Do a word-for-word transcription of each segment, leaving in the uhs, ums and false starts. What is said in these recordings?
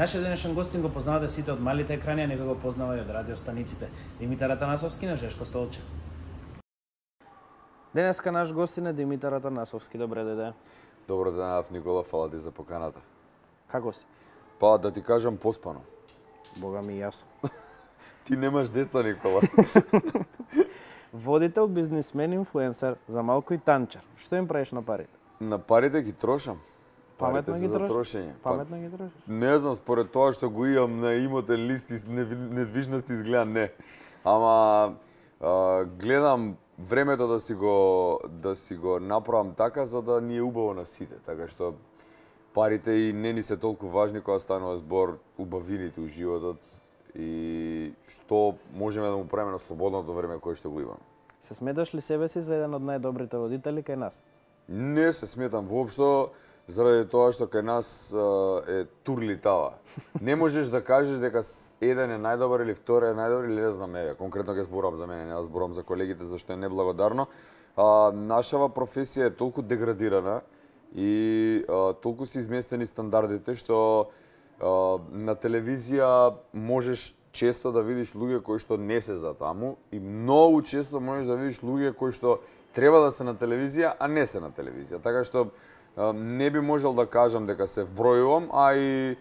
Нашиот денешен гостин го познавате сите од малите екрани, а некој го познава и од радиостаниците. Димитар Атанасовски на Жешко столче. Денеска наш гостин е Димитар Атанасовски. Добре дојде. Добро денев, Никола, фала ти за поканата. Како си? Па да ти кажам поспано. Бога ми јасно. Ти немаш деца, Никола. Водител, бизнисмен, инфлуенсер, за малку и танчар. Што им правиш на парите? На парите ги трошам. Паметно ги трошиш? Трошење. Паметно ги трошиш? Не знам, според тоа што го имам на имотен лист и недвижности изгледа не. Ама а, гледам времето да си го да си го направам така за да ни е убаво на сите, така што парите и не ни се толку важни кога станува збор убавините у животот и што можеме да му правиме на слободното време кое што го имаме. Се сметаш ли себе си за еден од најдобрите водители кај нас? Не се сметам воопшто, заради тоа што кај нас е турлитава. Не можеш да кажеш дека еден е најдобар или втори е најдобар или не знам, еве, конкретно ќе зборам за мене, не да зборам за колегите зашто е неблагодарно. А, нашава професија е толку деградирана и а, толку се изместени стандардите што а, на телевизија можеш често да видиш луѓе кои што не се за таму и многу често можеш да видиш луѓе кои што треба да се на телевизија, а не се на телевизија. Така што не би можел да кажам дека се вбројувам, а и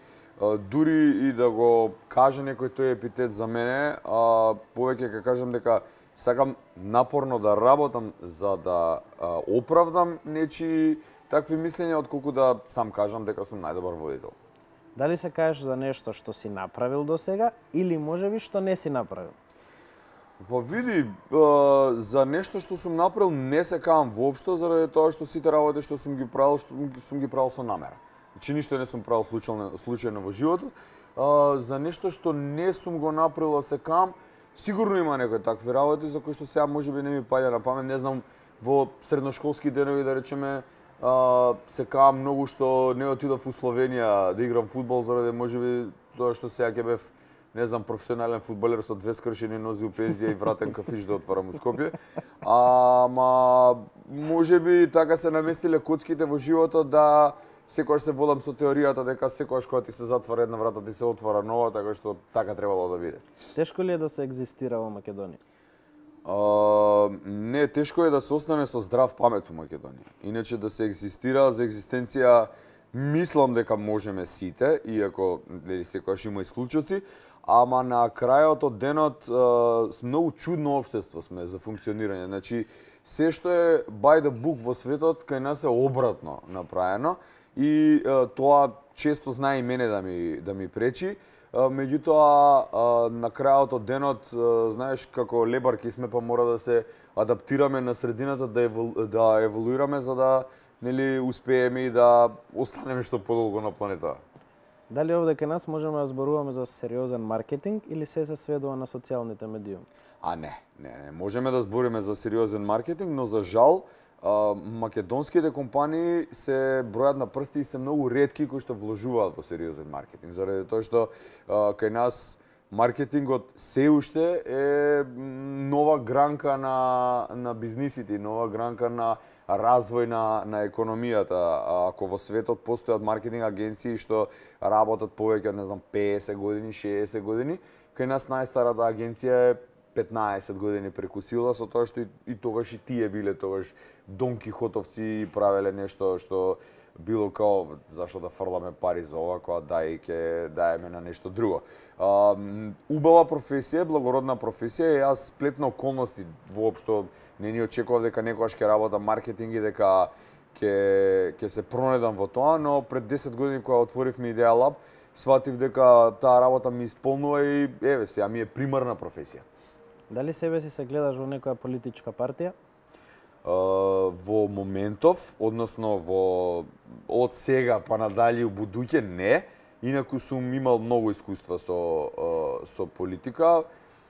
дури и да го каже некој тој епитет за мене, а, повеќе ќе кажам дека сакам напорно да работам за да а, оправдам нечии такви мислења, отколку да сам кажам дека сум најдобар водител. Дали се кажеш за нешто што си направил до сега или можеби што не си направил? Па види, а, за нешто што сум направил не се каам воопшто, заради тоа што сите работи што сум ги правил, што сум ги правил со намера. Значи ништо не сум правил случајно, случајно во животот. А, за нешто што не сум го направил, а се каам, сигурно има некои такви работи за кои што сега можеби не ми паѓа на памет, не знам, во средношколски денови да речеме, а, се каам многу што не отидов у Словенија да играм фудбал, заради можеби тоа што сега ќе бев не знам, професионален фудбалер со две скршени нози у пензија и вратен кафиш да отварам у Скопје. Ама можеби така се наместиле коцките во животот да секогаш се водам со теоријата дека секогаш кога ти се затвара една врата ти се отвара нова, така што така требало да биде. Тешко ли е да се екзистира во Македонија? А, не, тешко е да се остане со здрав памет у Македонија. Иначе да се екзистира за екзистенција мислам дека можеме сите, иако дали секогаш има исклучоци, ама на крајот од денот е, многу чудно општество сме за функционирање. Значи, се што е by the book во светот, кај нас е обратно направено и е, тоа често знае и мене да ми, да ми пречи. Е, меѓутоа, е, на крајот од денот, е, знаеш, како лебарки сме, па мора да се адаптираме на средината, да, евол, да еволуираме, за да нели успееме и да останеме што подолго на планетата. Дали овде кај нас можеме да зборуваме за сериозен маркетинг или се се сведува на социјалните медиуми? А не, не, не, можеме да збориме за сериозен маркетинг, но за жал а, македонските компании се бројат на прсти и се многу ретки кои што вложуваат во сериозен маркетинг, заради тоа што а, кај нас маркетингот се уште е нова гранка на на бизнисите, нова гранка на развој на, на економијата. Ако во светот постојат маркетинг агенции што работат повеќе од, не знам, песет години, шеесет години, кај нас најстарата агенција е петнаесет години преку сила, со тоа што и, и тогаш и тие биле тогаш Дон Кихотовци и правеле нешто што било као зашто да фрламе пари за ова, кога дај ќе даеме на нешто друго. А, убава професија, благородна професија и јас сплетна околности воопшто не ни очекував дека некогаш ќе работам маркетинг и дека ќе ќе се пронедам во тоа, но пред десет години кога отворивме Идеја Лаб, сватив дека таа работа ми исполнува и еве сега ми е примарна професија. Дали себе си се гледаш во некоја политичка партија? Uh, во моментов, односно во од сега па надале у будуќе не, инаку сум имал многу искуства со uh, со политика,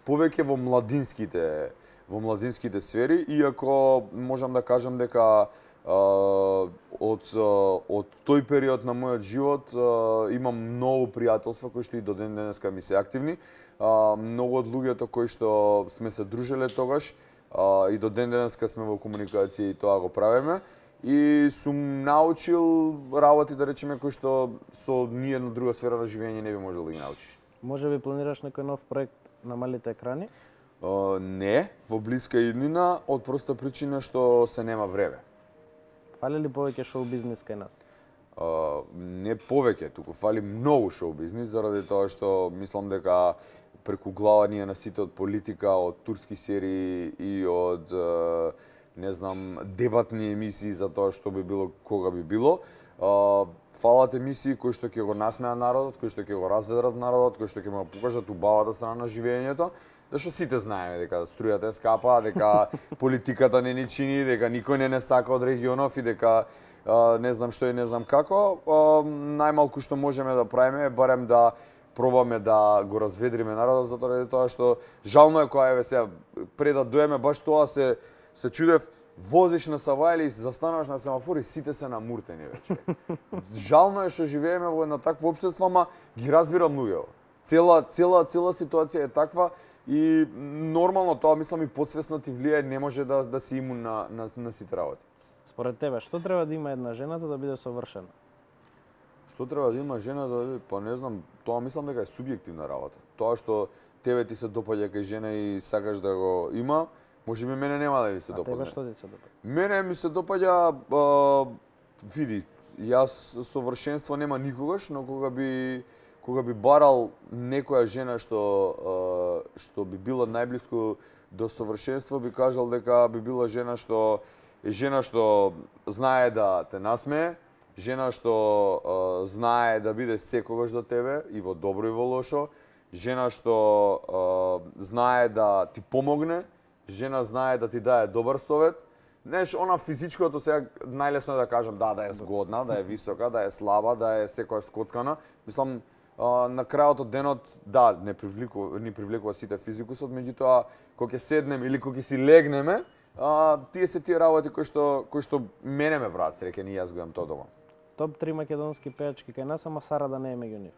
повеќе во младинските во младинските сфери, иако можам да кажам дека uh, од uh, од тој период на мојот живот uh, имам многу пријателства кои што и до ден денеска ми се активни. Uh, многу од луѓето кои што сме се дружеле тогаш Uh, и до ден денеска сме во комуникација и тоа го правиме. и сум научил работи, да речеме, кои што со ниедна друга сфера на живење не би можел да ги научиш. Може би планираш некој нов проект на малите екрани? Uh, не, во блиска иднина, од проста причина што се нема време. Фали ли повеќе шоу бизнис кај нас? Uh, не повеќе, туку фали многу шоу бизнис, заради тоа што мислам дека преку глава ние на сите од политика, од турски серии и од uh, не знам, дебатни емисии за тоа што би било, кога би било. Uh, фалат емисии кои што ќе го насмеат народот, кои што ќе го разведрат народот, кои што ќе му покажат убавата страна на живењето. Зашто сите знаеме дека струјата е скапа, дека политиката не ни чини, дека никој не не сака од регионов и дека а, не знам што и не знам како. А, најмалку што можеме да правиме е барем да пробаме да го разведриме народот, затоа тоа што жално е кога еве сега пред да доеме баш тоа се се чудев, возиш на Савајле и застануваш на семафор и сите се намуртени веќе. Жално е што живееме во едно такво општество, ама ги разбирам луѓето. Цела цела цела ситуација е таква. И нормално тоа, мислам, и подсвесно ти влијае, не може да, да си имун на, на, на сите работи. Според тебе, што треба да има една жена за да биде совршена? Што треба да има жена за да биде, па не знам, тоа мислам дека е субјективна работа. Тоа што тебе ти се допаѓа кај жена и сакаш да го има, може би мене нема да ми се допаѓа. А тебе што ти се допаѓа? Мене ми се допаѓа, а, види, јас совршенство нема никогаш, но кога би кога би барал некоја жена што што би била најблиску до совршенство, би кажал дека би била жена што е жена што знае да те насмее, жена што а, знае да биде секогаш до тебе и во добро и во лошо, жена што а, знае да ти помогне, жена знае да ти даде добар совет. Знаеш, она физичкото сега најлесно е да кажам да, да е згодна, да е висока, да е слаба, да е секоја скоцкана. Мислам, Uh, на крајот од денот, да, не привлекува, не привлекува сите физикусот, меѓутоа, кога ќе седнем или кога ќе си легнеме, uh, тие се тие работи кои што, кои што мене ме прават среќен и јас го имам тоа дома. Топ три македонски пејачки кај нас, ама Сара да не е меѓу нив.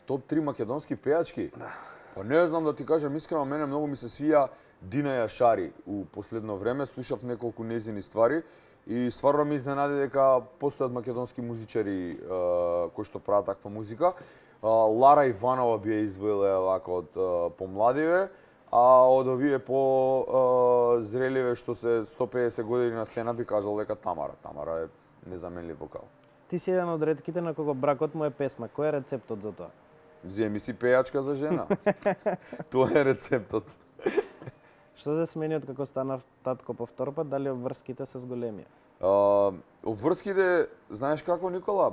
Топ три македонски пејачки? Да. Па не знам да ти кажам искрено, мене многу ми се свија Дина Јашари. У последно време слушав неколку нејзини ствари. И стварно ми изненади дека постојат македонски музичари uh, кои што прават таква музика. Uh, Лара Иванова би ја извоила вака од uh, помладиве, а од овие по uh, зреливе што се сто педесет години на сцена би кажал дека Тамара. Тамара е незаменлив вокал. Ти си еден од ретките на кого бракот му е песна. Кој е рецептот за тоа? Земи си пејачка за жена. Тоа е рецептот. Што се смени од како станав татко повтор пат, дали обврските се зголемија? Uh, обврските, знаеш како, Никола?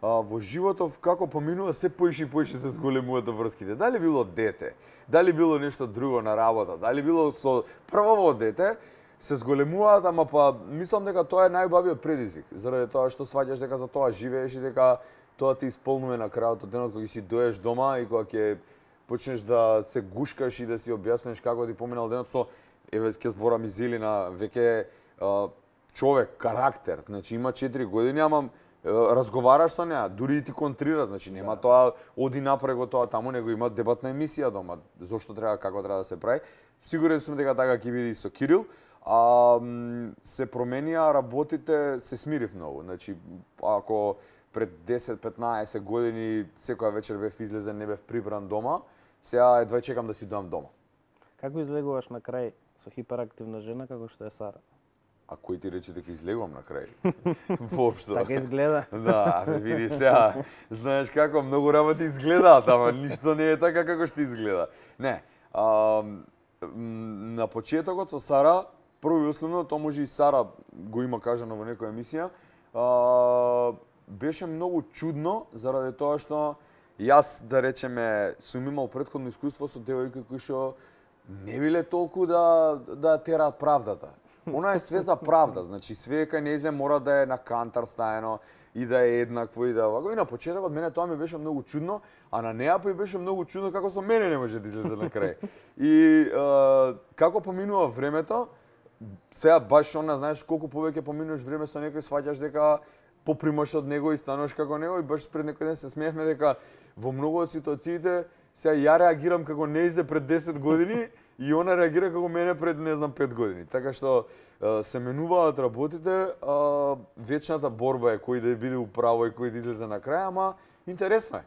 Uh, во животов како поминува се поише и поише се зголемуваат обврските. Дали било дете, дали било нешто друго на работа, дали било со прво дете, се зголемуваат, ама па мислам дека тоа е најубавиот предизвик, заради тоа што сваќаш дека за тоа живееш и дека тоа ти исполнува на крајот од денот кога си доеш дома и кога ќе почнеш да се гушкаш и да си објасниш како ти поминал денот со, еве ќе зборам и Зелина, веќе човек, карактер, значи има четири години, ама разговараш со неа, дури и ти контрира, значи нема да. Тоа оди напрего тоа таму, него има дебатна емисија дома, зошто треба, како треба да се прави. Сигурен сум дека така ќе биде и со Кирил. А се променија работите, се смирив многу. Значи ако пред десет-петнаесет години секоја вечер бев излезен, не бев прибран дома, сега едва чекам да си доам дома. Како излегуваш на крај со хиперактивна жена како што е Сара? А кој ти рече дека излегувам на крај? Воопшто. Така изгледа. Да, види сега, знаеш како многу работи изгледаат, ама ништо не е така како што изгледа. Не, а, на почетокот со Сара, прво и основно, тоа може и Сара го има кажано во некоја емисија, а, беше многу чудно заради тоа што јас, да речеме, сум имал претходно искуство со девојки кои што не биле толку да да тераат правдата. Она е све за правда, значи све кај нејзе мора да е на кантар стаено и да е еднакво и да вако. И на почетокот мене тоа ми беше многу чудно, а на неа па и беше многу чудно како со мене не може да излезе на крај. И е, како поминува времето, сега баш она, знаеш, колку повеќе поминуваш време со некој, сваќаш дека попримаш од него и стануваш како него, и баш пред некој ден се смеевме дека во многу од ситуациите сега ја реагирам како нејзе пред десет години, и она реагира како мене пред, не знам, пет години. Така што се менуваат работите, вечната борба е кој да биде управо и кој да излезе на крај, ама интересно е.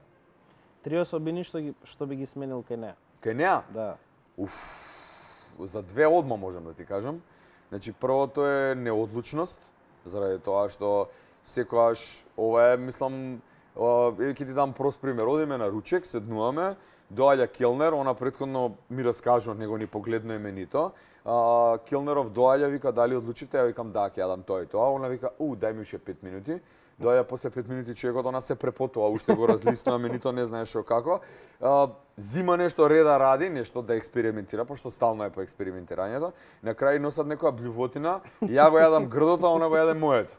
Три особини што ги што би ги сменил кај неа? Кај неа? Да. Уф. За две одма можам да ти кажам. Значи првото е неодлучност, заради тоа што секогаш ова е, мислам, ќе ти дам прост пример. Одиме на ручек, седнуваме, доаѓа келнер, она претходно ми раскажа, него ни погледно именито. А, келнеров доаѓа, вика дали одлучивте, ја викам да, ќе јадам тоа и тоа. Она вика, у, дај ми уште пет минути. Доаѓа после пет минути човекот, она се препотува, уште го разлистува менито, не знае што како. А, зима нешто реда ради, нешто да експериментира, пошто стално е по експериментирањето. На крај носат некоја блювотина, ја го јадам грдото, а она го јаде моето.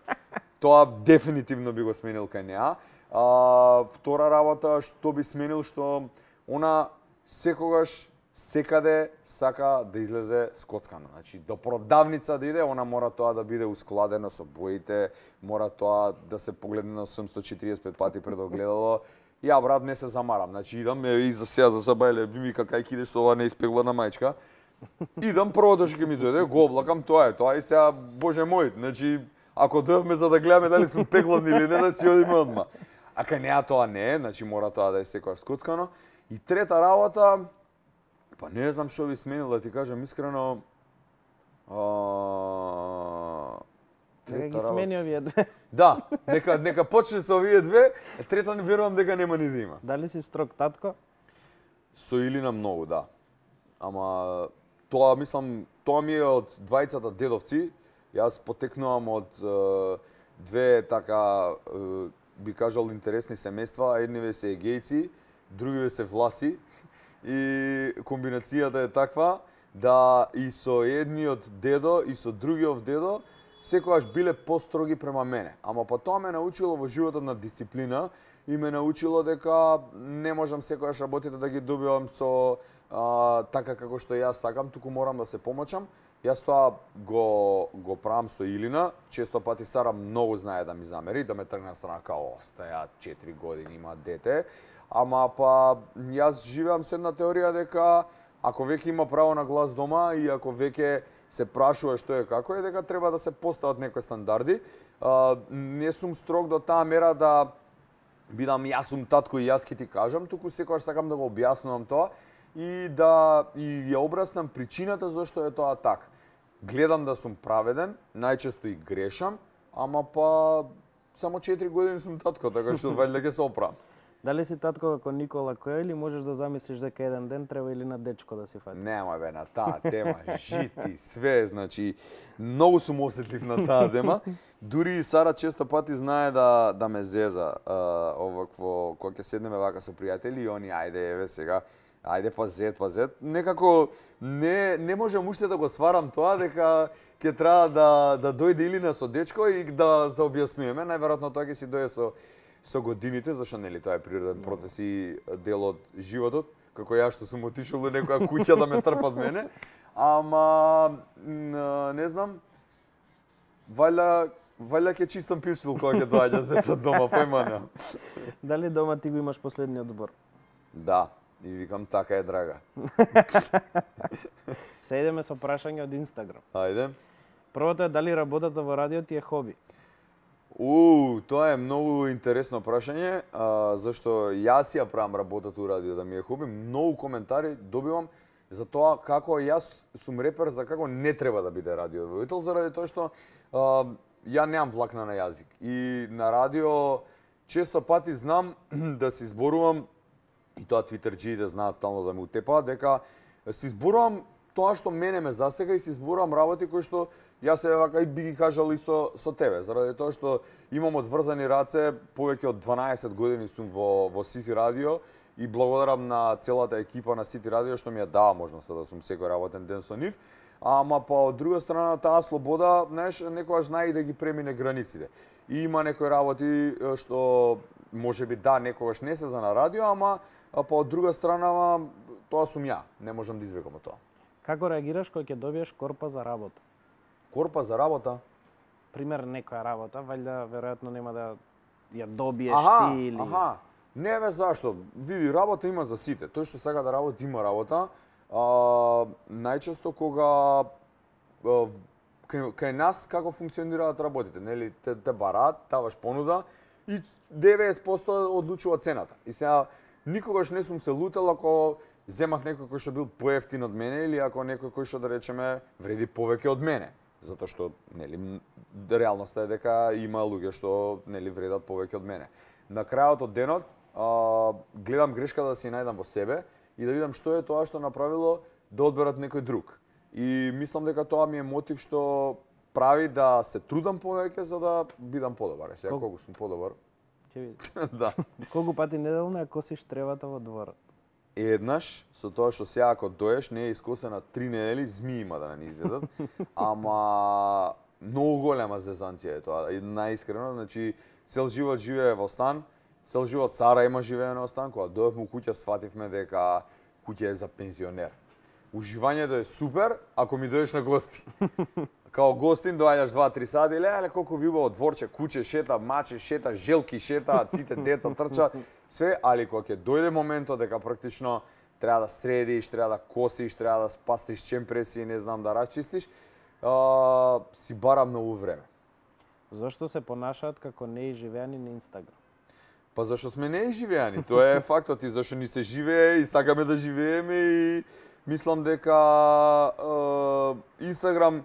Тоа дефинитивно би го сменил кај неа. А, втора работа што би сменил, што она секогаш секаде сака да излезе скоцкана. Значи, до продавница да иде, она мора тоа да биде ускладено со боите, мора тоа да се погледне на осумстотини и триесет и пет пати пред огледало. Ја, брат, не се замарам. Значи, идам и за сега, за сабајле, би ми какај кидеш со ова неиспеглана мајчка. Идам, првото што ќе ми дојде, го облакам, тоа е, тоа и сега, боже мој, значи, ако дојдовме за да гледаме дали сум пеглан или не, да си одиме одма. А кај неа тоа не е, значи мора тоа да е секојаш скоцкано. И трета работа, па не знам што би сменил, да ти кажам искрено. А... Нека ги смени овие две. Да, нека нека почне со овие две, трета не верувам дека нема ни да има. Дали си строг татко? Со Илина многу, да. Ама тоа мислам, тоа ми е од двајцата дедовци. Јас потекнувам од е, две така е, би кажал интересни семејства, едниве се егејци, другиве се власи. И комбинацијата е таква да и со едниот дедо и со другиот дедо секогаш биле построги према мене. Ама па тоа ме научило во животот на дисциплина и ме научило дека не можам секогаш работите да ги добивам со а, така како што јас сакам, туку морам да се помачам. Јас тоа го го правам со Илина, често пати Сара многу знае да ми замери, да ме тргне на страна као остаја четири години, има дете. Ама па јас живеам со една теорија дека ако веќе има право на глас дома и ако веќе се прашува што е како е, дека треба да се постават некои стандарди. А, не сум строг до таа мера да бидам јас сум татко и јас ќе ти кажам, туку секогаш сакам да го објаснувам тоа и да и ја обраснам причината зашто е тоа така. Гледам да сум праведен, најчесто и грешам, ама па само четири години сум татко, така што вајде ќе се оправам. Дали си татко како Никола Кој или можеш да замислиш дека еден ден треба или на дечко да си фати? Нема бе, на таа тема, жити, све, значи, многу сум осетлив на таа тема. Дури и Сара често пати знае да, да ме зеза, а, овакво, кога ќе седнеме вака со пријатели и они, ајде, еве сега, ајде па зет, па зет. Некако не, не можам уште да го сварам тоа, дека ќе треба да, да дојде Илина со дечко и да се објаснуваме. Најверојатно тоа ќе си дојде со со годините, зашто нели тоа е природен процес и дел од животот, како ја што сум отишол во некоја куќа да ме трпат мене, ама не знам, вајда вајда ќе чистам пилчил кога ќе доаѓа зетот дома, појма не. Дали дома ти го имаш последниот збор? Да, и викам така е драга. Се идеме со прашање од Инстаграм. Ајде. Првото е дали работата во радио ти е хоби? У, тоа е многу интересно прашање, а, зашто јас ја правам работата у радио да ми е хоби. Многу коментари добивам за тоа како јас сум репер, за како не треба да биде радиоводител, заради тоа што а, ја немам влакна на јазик. И на радио често пати знам да си зборувам, и тоа твитерџиите знаат стално да ме утепаат, дека си зборувам тоа што мене ме засега и си зборувам работи кои што јас се вака и би ги кажал и со со тебе, заради тоа што имам одврзани раце, повеќе од дванаесет години сум во во Сити радио и благодарам на целата екипа на Сити радио што ми ја дава можноста да сум секој работен ден со нив. Ама па од друга страна таа слобода, знаеш, некогаш знае и да ги премине границите. И има некои работи што можеби да некогаш не се за на радио, ама па од друга страна тоа сум ја, не можам да избегам од тоа. Како реагираш кога ќе добиеш корпа за работа? Корпа за работа? Пример некоја работа, вајда веројатно нема да ја добиеш аха, ти или... Аха, не бе зашто. Види, работа има за сите. Тој што сака да работи има работа. А, најчесто кога а, кај, кај нас како функционираат работите, нели те, те бараат, даваш понуда и деветдесет проценти одлучува цената. И сега никогаш не сум се лутел ако земах некој кој што бил поевтин од мене или ако некој кој што да речеме вреди повеќе од мене, затоа што нели реалноста е дека има луѓе што нели вредат повеќе од мене. На крајот од денот а, гледам грешката да си најдам во себе и да видам што е тоа што направило да одберат некој друг. И мислам дека тоа ми е мотив што прави да се трудам повеќе за да бидам подобар. Сега колку сум подобар. Ќе видиш. Да. Колку пати неделно ја косиш тревата во дворот? Еднаш, со тоа што сега ако доеш не е искосена три недели, змии има да не изедат. Ама многу голема зезанција е тоа. И најискрено, значи цел живот живее во стан, цел живот Сара има живее во стан, кога дојавме у куќа сфативме дека куќа е за пензионер. Уживањето е супер ако ми дојдеш на гости. Као гостин доаѓаш два-три сати, ле, ле, колку ви убаво дворче, куче шета, маче шета, желки шета, сите деца трчат, све, али кога ќе дојде моментот дека практично треба да средиш, треба да косиш, треба да спастиш чемпреси, не знам да расчистиш, а, си бара многу време. Зошто се понашаат како неизживеани на Инстаграм? Па зашто сме неизживеани, тоа е фактот и зашто ни се живее и сакаме да живееме и мислам дека е, Инстаграм,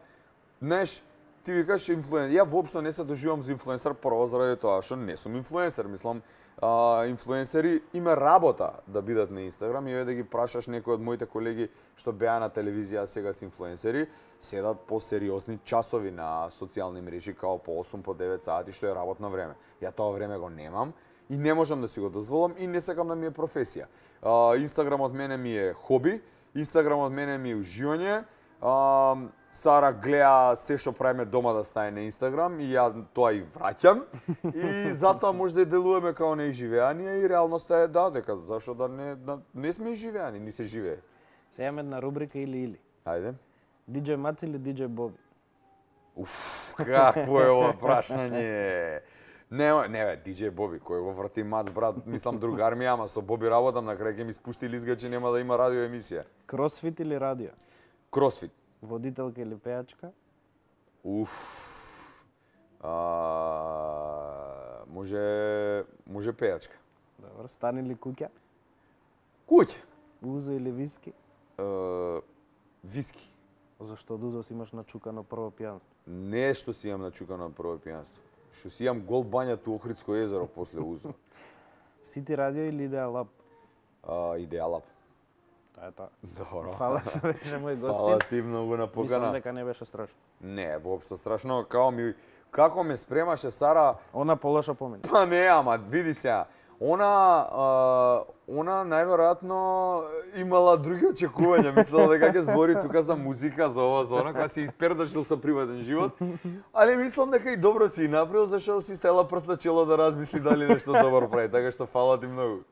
знаеш, ти викаш инфлуенсер. Ја воопшто не се доживам за инфлуенсер прво заради тоа што не сум инфлуенсер. Мислам, а, инфлуенсери има работа да бидат на Инстаграм и да ги прашаш некои од моите колеги што беа на телевизија, сега се инфлуенсери, седат по сериозни часови на социјални мрежи, као по осум, по девет сати, што е работно време. Ја тоа време го немам и не можам да си го дозволам и не сакам да ми е професија. А, Инстаграм од мене ми е хоби, Инстаграм од мене ми е уживање. А, Сара гледа се што правиме дома да стане на Инстаграм и ја тоа и враќам. И затоа може да делуваме као неизживеани и реалноста е да, дека зашо да не да, не сме изживеани, ни се живее. Се имаме една рубрика или или. Ајде. Диџеј Мац или Диџеј Боби? Уф, какво е ова прашање? Не, не бе, Диџеј Боби, кој го врати Мац, брат, мислам другар ми, ама со Боби работам, на крај ќе ми спушти лизгачи, нема да има радио емисија. Кросфит или радио? Кросфит. Водителка или пејачка? Уф. А, може, може пејачка. Добро, стан или куќа? Куќа. Узо или виски? Uh, виски. Зашто од узо си имаш начукано прво пијанство? Не што си имам начукано прво пијанство. Што си имам гол бања у Охридско езеро после узо. Сити радио или Идеалаб? Uh, Идеалаб. Тоа е тоа. Добро. Фала што беше мој гостин. Фала ти многу на покана. Мислам дека не беше страшно. Не, воопшто страшно. Као ми, како ме спремаше Сара... Она полошо помине. Па не, ама види сега. Она, а, она најверојатно имала други очекувања. Мислела дека ќе збори тука за музика, за ова, за она, кога си испердашил со приватен живот. Али мислам дека и добро си направил, зашто си стела прст на чело да размисли дали нешто добро прави. Така што фала ти многу.